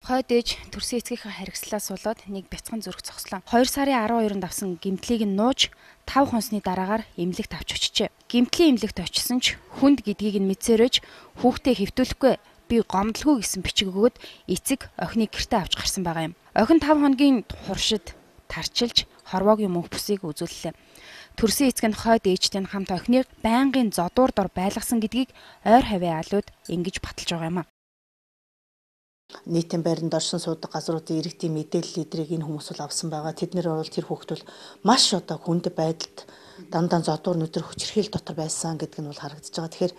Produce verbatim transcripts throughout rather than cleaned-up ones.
Хойд ээж төрсөн эцгийнхээ харгислаас болоод нэг бяцхан зүрх зогслоо. хоёр сарын арван хоёрнд авсан гэмтлийг нь нууж тав хонсны дараагаар эмнэлэгт авч очижээ. Гэмтлийн эмнэлэгт очисон ч хүнд гэдгийг нь мэдсээрэж хүүхдээ хэвтүүлэхгүй би гомдлгүй гэсэн бичиг өгөөд эцэг охиныг гэртээ авч гарсан байгаа юм. Охин тав хоногийн хуршид тарчилж хорвоогийн мөнх бүсийг үзүүллээ. Төрсөн эцэг нь хойд ээжтэй хамт охиныг байнгын зодуур дор байлгасан гэдгийг ойр хавийн алууд ингэж баталж байгаа юм а. Нийтийн байранд оршин суудаг газруудын иргэдийн мэдээлэл эдрийг энэ хүмүүс бол авсан байгаа. Тэднэр бол тэр хүүхэд бол маш одоо хүнд байдалд дандаа зодуур нүдэр хүчирхийл дотор байсан гэдг нь бол харагдаж байгаа. Тэгэхээр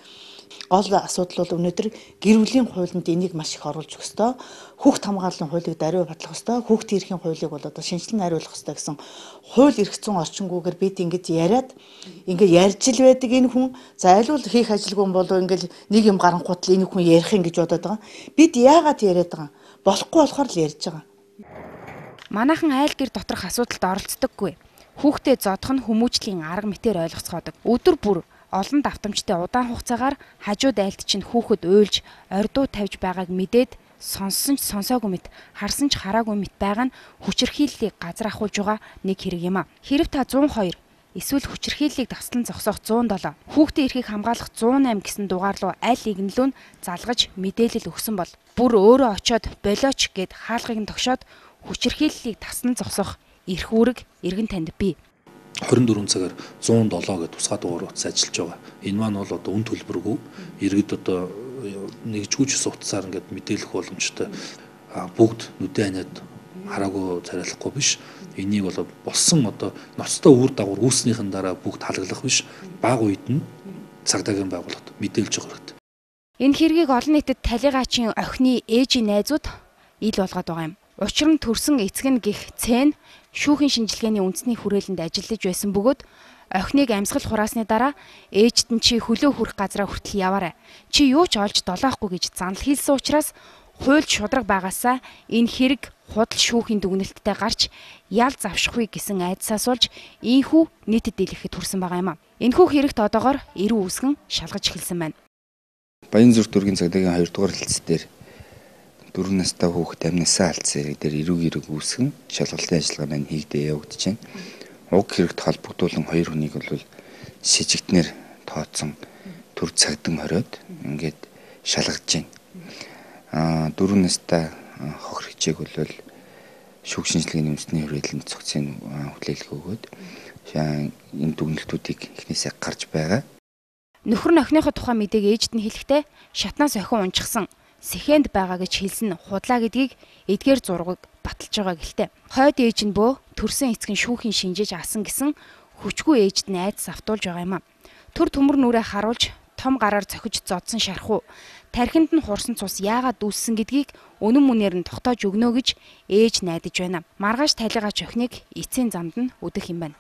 гол асуудал бол өнөөдөр гэр бүлийн хуулинд энийг маш их оруулж өгөх ёстой. Хүүхд хамгааллын хуулийг даруй батлах ёстой. Хүүхдийн эрхийн хуулийг бол одоо шинжилэн хариулах ёстой гэсэн хууль эрх зүйн орчингүйгээр бид ингэж яриад ингээ ярьж л байдаг энэ хүн за айлуул хийх ажилгүй юм болов ингээл нэг юм гаранхууд л энэ хүн ярих юм гэж бодоод байгаа. Бид яагаад яриад байгаа? Болохгүй болохоор л ярьж байгаа. Манайхан айл гэр доторх асуудалд оролцдоггүй. Хүүхдээ зодох нь хүмүүжлийн арга мэтээр ойлгоцгоодог. Өдөр бүр олон давтамжтай удаан хугацаагаар хажууд айлт чинь хүүхэд уйлж ордуу тавьж байгааг мэдээд сонссон ч сонсоогүй мэт харсан ч хараагүй мэт байгаа нь хүчирхийллийг газар ахуулж байгаа нэг хэрэг юм а. Хэрэв та зуун хоёр эсвэл хүчирхийллийг таслан зогсоох зуун долоо хүүхдийн эрхийг хамгаалах зуун найм гэсэн дугаар руу аль игнэлүүн залгаж мэдээлэл өгсөн бол бүр өөрөө очиод болооч гэд хаалгыг нь тогшоод хүчирхийллийг таслан зогсоох эрх үүрэг эргэн танд бий. хорин дөрвөн цагаар зуун долоо гэдэг тусгай дугаар утас ажиллаж байгаа. Энэ маань бол одоо үн төлбөргүй иргэд одоо нэгжгүйч утасаар ингээд мэдээлэх боломжтой бүгд нүдэн ханиад хараагүй царайлахгүй биш. Энийг бол болсон одоо ноцтой үр дагавар үүснийхэн дараа бүгд халаглах биш. Бага үед нь цагдаагийн байгууллагад мэдээлж байгаа хэрэгтэй. Энэ хэргийг олон нийтэд талигаачийн охины ээжийн найзууд ил болгоод байгаа юм. Учир нь төрсөн эцэг нь гих цэн шүүхийн шинжилгээний үндэсний хүрээлэнд ажиллаж байсан бөгөөд охиныг амьсгал хураасны дараа ээжд нь чи хөлөө хүрэх газараа хүртэл яваарай. Чи юу ч олж долоохгүй гэж занл хийлсэн учраас хуульд шудраг байгаасаа энэ хэрэг худал шүүхийн дүгнэлттэй гарч ял завшихгүй гэсэн айдсаас болж ийхүү нийтэд дийлэхэд хүрсэн байгаа юм а. Энэхүү хэрэгт одоогоор эрүү үсгэн шалгаж эхэлсэн байна. Баянзүрх дүүргийн цагдаагийн хоёр дугаар хэлц дээр дөрвөн настай хүүхэд амнасаа алдсан хэрэг дээр эрүүг эрүүг үүсгэн шалгалтын ажиллагаа маань хийгдээ явагдаж байна. Уг хэрэгт холбогдуулан хоёр хүнийг бол сэжигтнэр тооцсон төр цагдан хориод ингээд шалгаж байна. Аа дөрвөн настай хохир хичээг бол шүүх шинжилгээний үндэсний хүрээлэнд цогцын хүлээлт өгөөд энэ дүгнэлтүүдийг эхнээсээ гарч байгаа. Нөхөр нь охиныхоо тухай мэдээг ээжд нь хэлэхдээ шатнаас охин унчихсан сэхэнд байгаа гэж хэлсэн худлаа гэдгийг эдгээр зургийг баталж байгаа гэлтэй. Хойд ээж нь бөө төрсөн эцэг нь шүүхийн шинжиж асан гэсэн хүчгүй ээжд нь айдас автуулж байгаа юм а. Төр төмөр нүрээ харуулж том гараар цохиж зодсон шархуу тархинд нь хурсан цус яагаад дүүссэн гэдгийг үнэн мөнээр нь тогтоож өгнө гэж ээж найдаж байна. Маргааш талигаач охиныг эцсийн замд нь өдөх юм байна.